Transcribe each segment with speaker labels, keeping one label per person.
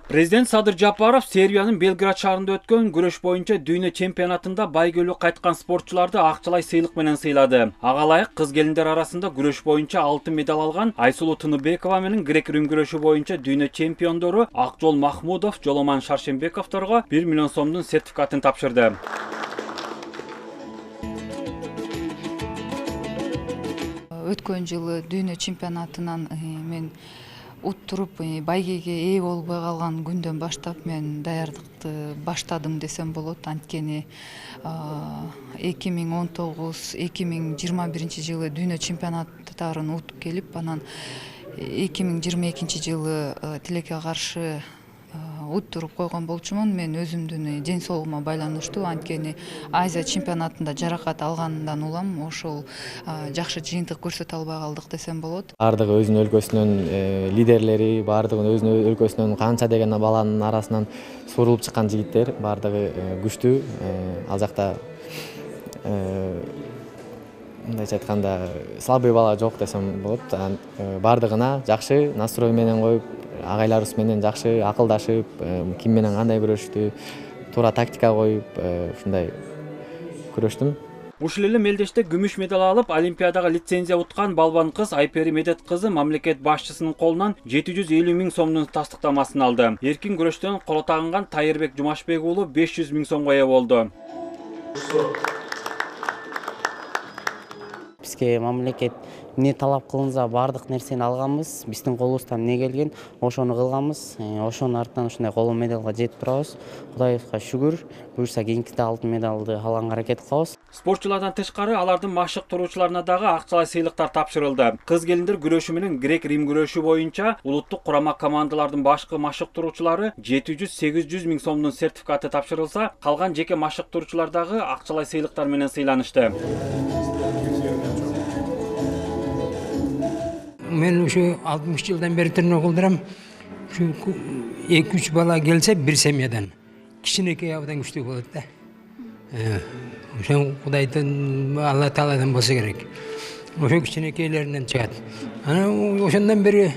Speaker 1: Президент Садыр Жапаров Сербиянын Белград шаарында өткөн күрөш боюнча дүйнө чемпионатында байгөлүү кайткан спортчуларды акчалай сыйлык менен сыйлады. Ага ылайык кыз келиндер арасында күрөш боюнча алтын медаль алган Айсулуу Тыныбекова менен грек-рим күрөшү боюнча дүйнө чемпиондору Акжол Махмудов, Жоломан Шаршембековторго 1 миллион сомдун сертификатын тапшырды.
Speaker 2: Өткөн жылы дүйнө чемпионатынан мен уттуруп байгеге ээ болбой калган күндөн баштап мен даярдыкты баштадым десем болот. Анткени 2019-2021 жылы дүйнө чемпионаттарын утуп келип, анан 2022 жылы тилекке каршы уттуруп койгон болчумун. Мен өзүмдүн ден соолугума байланыштуу, анткени Азия чемпионатында жаракат алгандан улам ошол жакшы жыйынтык көрсөтө албай калдык десем болот.
Speaker 3: Бардыгы өзүнүн өлкөсүнүн лидерлери, бардыгы өзүнүн өлкөсүнүн канча деген баланын арасынан суурулуп чыккан жигиттер, бардыгы күчтүү. Ал жакта мындайча айтканда слабый бала жок десем болот. Бардыгына жакшы настрой менен коюп, агайларыбыз менен жакшы акылдашып, ким менен кандай күрөштү, туура тактика коюп, ушундай күрөштүм.
Speaker 1: Ушул эле мелдеште күмүш медаль алып, Олимпиадага лицензия уткан балбан кыз Айпери Медет кызы мамлекет башчысынын колунан 750 000 сомдун тастыктамасын алды. Эркин күрөштөн коло тагынган Тайырбек Жумашбек уулу 500 000 сомго ээ болду.
Speaker 4: Бизге мамлекет эмне талап кылынса бардык нерсени алганбыз. Биздин колубуздан эмне келген, ошону кылганбыз. Ошонун артынан ушундай коло медалга жетип турабыз. Кудайыбызга шүгүр. Буюрса кийинкиде алтын медалды алганга аракет кылабыз.
Speaker 1: Спортчулардан тышкары алардын машыктыруучуларына дагы акчалай сыйлыктар тапшырылды. Кыз келиндер күрөшү менен грек-рим күрөшү боюнча улуттук курама командалардын башкы машыктыруучулары 700-800 000 сомдун сертификаты тапшырылса, калган жеке машыктыруучулар дагы акчалай сыйлыктар менен сыйланышты.
Speaker 5: Мен ушу 60 жылдан бери тренировка кылдырам. Ушу 2-3 бала келсе бир семьядан. Кичинекей абдан күчтүү болот да. Ошо Кудайдын Алла Тааладан болсо керек. Ошо кичинекейлеринен чыгат. Анан ошондон бери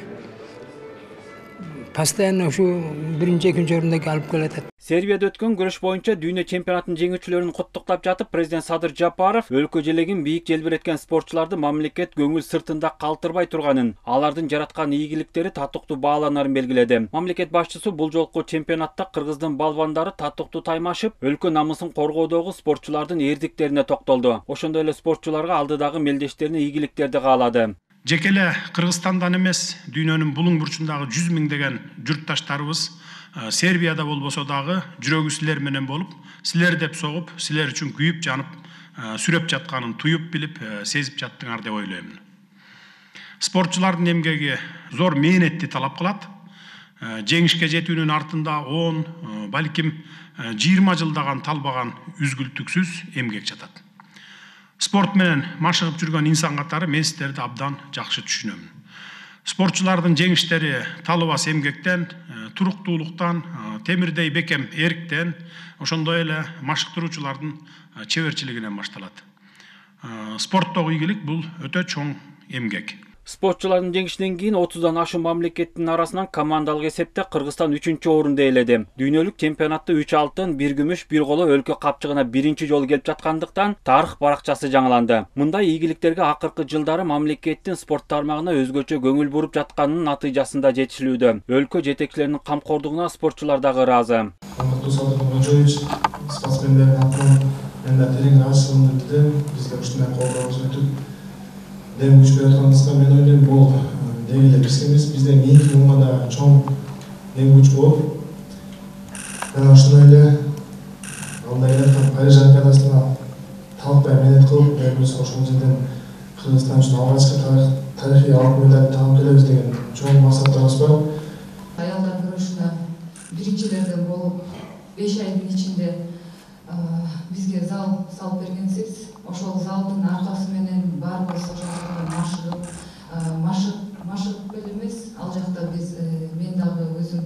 Speaker 5: постоянно ушу 1-2 орунда алып келатат.
Speaker 1: Сербияда өткөн күрөш боюнча дүйнө чемпионатынын жеңүүчүлөрүн куттуктап жатып, президент Садыр Жапаров өлкө желегин бийик желбиреткен спортчуларды мамлекет көңүл сыртында калтырбай турганын, алардын жараткан ийгиликтери татыктуу бааланарын белгиледи. Мамлекет башчысы бул жолку чемпионатта кыргыздын балбандары татыктуу таймашып, өлкө намысын коргоодогу спортчулардын эрдиктерине токтолду. Ошондой эле спортчуларга алдыдагы мелдештерине ийгиликтерди каалады.
Speaker 6: Жеке эле Кыргызстандан эмес, дүйнөнүн булуң бурчундагы 100 000 журтташтарыбыз Сербияда болбосо дагы жүрөгү силер менен болуп, силер деп согуп, силер үчүн күйүп жанып, сүрөп жатканын туюп билип, сезип жаттыңар деп ойлоймун. Спортчулардын эмгеги зор мээнетти талап кылат. Жеңишке жетүүнүн артында 10, балким 20 жылдаган талбаган үзгүлтүксүз эмгек жатат. Спорт менен машыгып жүргөн инсан катары мен силерди абдан жакшы түшүнөм. Спортчулардын жеңиштери талыбас эмгектен, туруктуулуктан, темирдей бекем эриктен, ошондой эле машыктыруучулардын чеберчилигинен башталат. Спорттогу ийгилик бул өтө чоң эмгек.
Speaker 1: Спортчулардын жеңишинен кийин 30дан ашуун мамлекеттин арасынан командалык эсепте Кыргызстан 3-орунду ээледи. Дүйнөлүк чемпионатта 3 алтын, 1 күмүш, 1 коло өлкө капчыгына биринчи жолу келип жаткандыктан тарых баракчасы жаңыланды. Мындай ийгиликтерге акыркы жылдары мамлекеттин спорт тармагына өзгөчө көңүл буруп жатканынын натыйжасында жетишилүүдө. Өлкө жетекчилеринин камкордугуна спортчулар дагы ыраазы.
Speaker 7: Спортсмендердин атынан мен да терең ыраазычылыгымды билдирем. Бизге ушундай колдоо көрсөтүп дем күч берип атканыбызга мен ойлойм, бул деги эле бизгемиз, бизден кийинки муңга да чоң дем күч болуп, мен ошондой эле андай Париж олимпиадасына талкпай мээнет кылып, өзүбүз ошол жерден Кыргызстан үчүн алгачкы тарыхый алтын медаль таап келебиз деген чоң максаттарыбыз бар.
Speaker 2: Аялдар күрөшүнө биринчилерден болуп 5 айдын ичинде бизге зал салып бергенсиз. Ошол залдын аркасы менен баарыбыз ошол жакта машыгып эле эмес, ал жакта биз мен дагы өзүм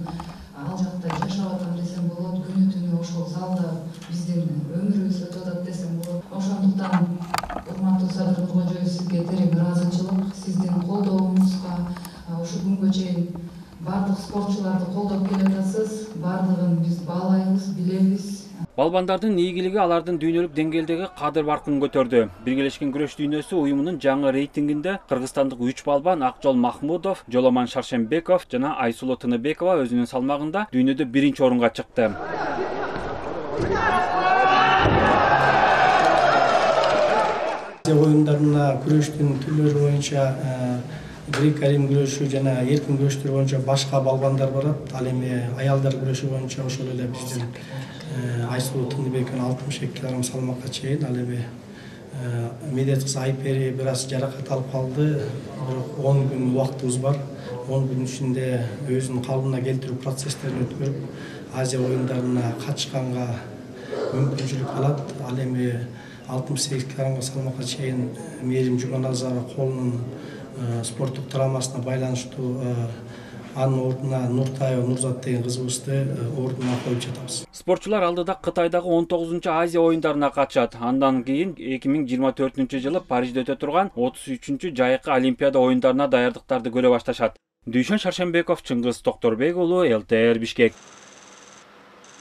Speaker 2: ал жакта жашап атам десем болот. Күнү-түнү ошол залда биздин өмүрүбүз өтүп атат десем болот. Ошондуктан урматтуу Садыр Нуркожоев, сизге терең ыраазычылык, сиздин колдооңузга ушул күнгө чейин баардык спортчуларды колдоп келатасыз, баардыгын биз баалайбыз, билебиз.
Speaker 1: Балбандардын ийгилиги алардын дүйнөлүк деңгээлдеги кадыр баркын көтөрдү. Биргелешкен күрөш дүйнөсү уюмунун жаңы рейтингинде кыргызстандык 3 балбан Акжол Махмудов, Жоломан Шаршембеков жана Айсулу Тыныбекова өзүнүн салмагында дүйнөдө 1-орунга чыкты.
Speaker 8: Оюндарына күрөштүн түрлөрү боюнча грек-рим күрөшү жана эркин күрөштөр боюнча башка балбандар барат. Ал эми аялдар күрөшү боюнча ошол эле биздин Айсулу Тыныбекова 62 кг салмакка чейин. Ал эми медет кыз Айпери бир аз жаракат алып калды. Бирок 10 күн убактыбыз бар. 10 күн ичинде өзүнүн калыбына келтирүү процесстерин өткөрүп, Азия оюндарына катышканга мүмкүнчүлүк алат. Ал эми 68 кг салмакка чейин Мээрим Жуманазарова колунун спорттук травмасына байланыштуу анын ордуна Нуртаева Нурзат деген кызыбызды ордуна коюп жатабыз.
Speaker 1: Спортчулар алдыда Кытайдагы 19-чу Азия оюндарына катышат. Андан кийин 2024-жылы Парижде өтө турган 33-чү Жайкы Олимпиада оюндарына даярдыктарды көрө башташат. Дүйшөн Шаршембеков, Чыңгыз Токторбек уулу, ЛТР Бишкек.